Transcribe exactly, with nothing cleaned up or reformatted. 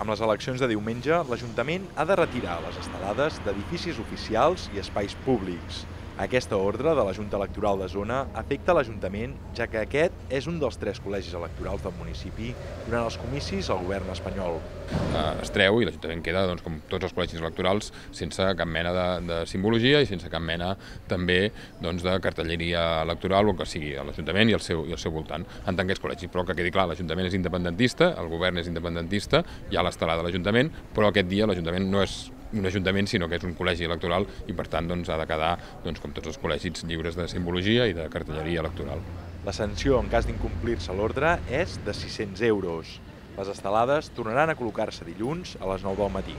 Amb les eleccions de diumenge, l'Ajuntament ha de retirar les estelades d'edificis oficials i espais públics. Aquesta ordre de la Junta Electoral de Zona afecta l'Ajuntament, ja que aquest és un dels tres col·legis electorals del municipi durant els comicis al govern espanyol. Es treu i l'Ajuntament queda, doncs, com tots els col·legis electorals, sense cap mena de, de simbologia i sense cap mena també doncs, de cartelleria electoral o que sigui a l'Ajuntament i, el seu, i el seu voltant, en tant que és col·legi. Però que quedi clar, l'Ajuntament és independentista, el govern és independentista, hi ha l'estelada de l'Ajuntament, però aquest dia l'Ajuntament no és un ajuntament, sinó que és un col·legi electoral i, per tant, doncs, ha de quedar, doncs, com tots els col·legis, lliures de simbologia i de cartelleria electoral. La sanció en cas d'incomplir-se l'ordre és de sis-cents euros. Les estelades tornaran a col·locar-se dilluns a les nou del matí.